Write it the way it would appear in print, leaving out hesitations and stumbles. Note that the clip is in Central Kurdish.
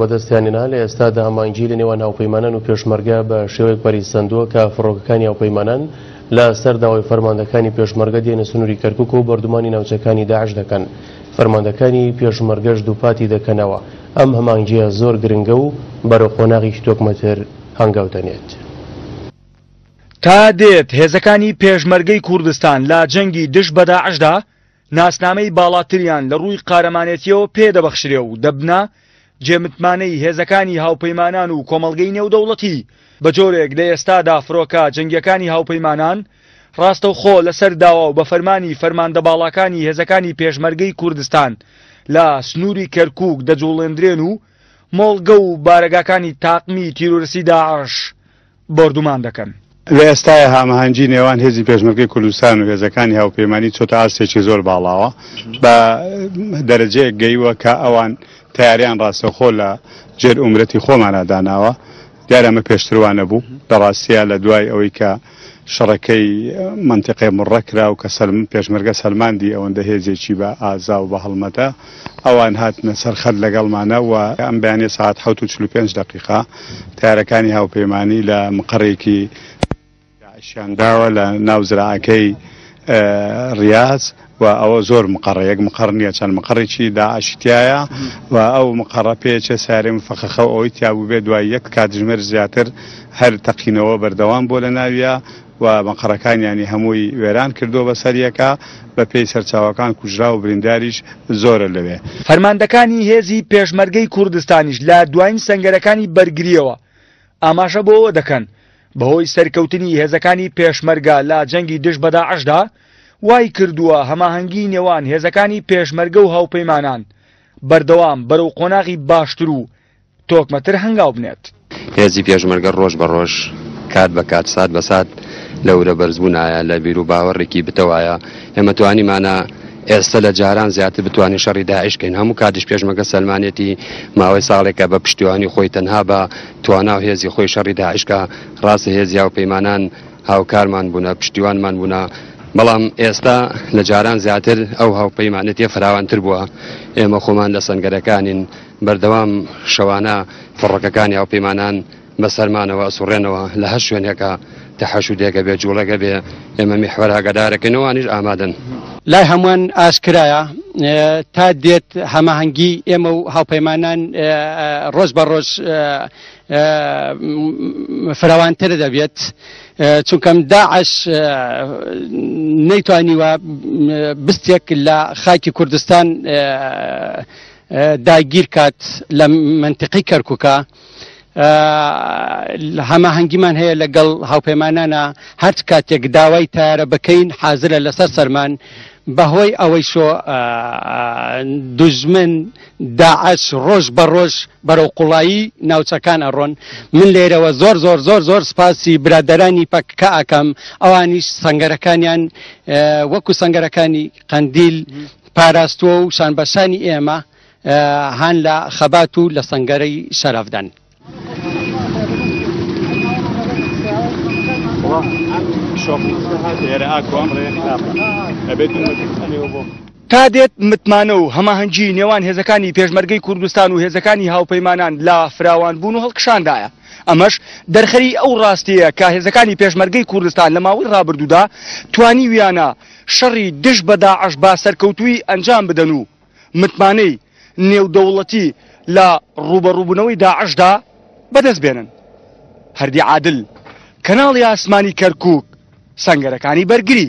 بەدەستیان هێنا، لە ئێستادا هەماهەنگی لە نێوان هاوپەیمانان و پێشمەرگە بە شێوەیەک پەرەی سەندووە کە فڕۆکەکانی هاوپەیمانان لە سەر داوای فەرماندەکانی پێشمەرگە دێنە سنووری کەرکوک و بۆردومانی ناوچەکانی داعش دەکەن. فەرماندەکانی پێشمەرگەش دووپاتی دەکەنەوە ئەم هەماهەنگییە زۆر گرنگە و بەرەو قۆناغێکی تۆکمەتر هەنگاو دەنێت. تا دێت هێزەکانی پێشمەرگەی کوردستان لە جەنگی دژ بە داعشدا ناسنامەی باڵاتریان لە ڕووی قارەمانێتیەوە پێ دەبەخشرێ و دەبنە جێمتمانەی هێزەکانی هاوپەیمانان و کۆمەڵگەی نێودەوڵەتی، بە جۆرێک لە ئێستادا فرۆکە جەنگیەکانی هاوپەیمانان ڕاستەوخۆ لەسەر داوا و بە فەرمانی فەرماندە باڵاکانی هێزەکانی پێشمەرگەی کوردستان لە سنووری کەرکووک دەجوڵێندرێن و مۆڵگە و بارەگاکانی تاقمی تیرۆرستی داعش بۆردومان دەکەن. لە ئێستایا هاماهەنگی نێوان هێزی پێشمەرگەی کوردستان و هێزەکانی هاوپەیمانی چۆتە ئاستێکی زۆر باڵاوە، بە دەرەجەیەک گەیوە کە ئەوان تەیارەیان ڕاستەوخۆ لە ژێر ئومرەتی خۆمانا داناوە. دیارە ئەمە پێشتر وا نەبوو. لە ڕاستیا لە دوای ئەوەی کە شەڕەکەی مەنتیقەی مڕە کرا و کە پێشمەرگە سەلماندی ئەوەندە هێزێکی بە ئازا و بە هەڵمەتە، ئەوان هاتنە سەر خەت لەگەڵمانە و ئەم بەیانیە سەعات حەوت و 45 دەقیقە تەیارەکانی هاوپەیمانی لە مقەڕێکی داعشیان داوە لە ناو زراعەکەی ڕیاز و ئەوە زۆر مقەڕە، یەک مقەڕ نییە چەند مقەڕێکی داعشی تیایە و ئەو مقەڕە پێچێ سارێ مفەخەخە و ئەوەی تیا بووبێ دوای یەک کاتژمێر زیاتر هەر تەقینەوە بەردەوام بووە لە ناویا و مقەڕەکانیانی هەمووی وێران کردووە بەسەر یەکا، بە پێی سەرچاوەکان کوژراو و برینداریش زۆرە لەوێ. فەرماندەکانی هێزی پێشمەرگەی کوردستانیش لە دوایین سەنگەرەکانی بەرگرییەوە ئاماژە بۆ ئەوە دەکەن، بەهۆی سەرکەوتنی هێزەکانی پێشمەرگە لە جەنگی دژ بە داعشدا، وای کردووە هەماهەنگی نێوان هێزەکانی پێشمەرگە و هاوپەیمانان بەردەوام بەرەو قۆناغی باشتر و تۆکمەتر هەنگاو بنێت. هێزی پێشمەرگە ڕۆژ بە ڕۆژ، کات بە کات، سات بە سات لە ورە بەرزبوونایە، لە بیروباوەڕێکی بتەوایە. ئێمە توانیمانە ئێستە لە جاران زیاتر بتوانین شەڕی داعش کەین. هەموو کاتیش پێشمەرگە سەلمانێتی ماوەی ساڵێکە بە پشتیوانی خۆی تەنها بە توانا و هێزی خۆی شەڕی داعش کا. ڕاستە هێزی هاوپەیمانان هاوکارمان بوونە، پشتیوانمان بوونە، بەڵام ئێستا لە جاران زیاتر ئەو هاوپەیمانێتیە فراوانتر بووە. ئێمە خۆمان لە سەنگەرەکانین. بەردەوام شەوانە فڕۆکەکانی هاوپەیمانان بە سەرمانەوە ئەسوڕێنەوە، لە هەر شوێنێکا تەحەشودێک هەبێ، جوڵەک هەبێ، ئێمە میحوەر ئاگادارەکەین، ئەوانیش ئامادەن. لای هەمووان ئاشکرایە تا دێت هەماهەنگی ئێمە و هاوپەیمانان ڕۆژ بە ڕۆژ فراوانتر دەبێت، چونکەم داعش نەیتوانیوە بستێک لە خاکی کوردستان داگیر کات لە مەنتیقەی کەرکوکا هەماهەنگیمان هەیە لەگەڵ هاوپەیمانانە هەرچ کاتێک داوای تارە بکەین حازرە لەسەر سەرمان بەهۆی ئەوەی شۆ دوژمن داعش ڕۆژ بە ڕۆژ بەرەو قوڵایی ناوچەکان ئەڕۆن من لێرەوە زۆر زۆر زۆر زۆر سپاسی برادەرانی پەککە ئەکەم ئەوانیش سەنگەرەکانیان وەکو سەنگەرەکانی قەندیل پاراستووە و شانبەشانی ئێمە هان لە خەبات و لە سەنگەرەی شەرەفدان. تا دێت متمانە و هەماهەنگی نێوان هێزەکانی پێشمەرگەی کوردستان و هێزەکانی هاوپەیمانان لە فراوانبوون و هەڵکشاندایە. ئەمەش دەرخەری ئەو ڕاستییە کە هێزەکانی پێشمەرگەی کوردستان لە ماوەی ڕابردوودا توانیویانە شەڕی دژ بە داعش بە سەرکەوتوویی ئەنجام بدەن و متمانەی نێودەوڵەتی لە ڕووبەڕووبوونەوەی داعشدا بەدەست بێنن. هەردی عادل، کەناڵی ئاسمانی کەرکووک، سەنگەرەکانی بەرگری.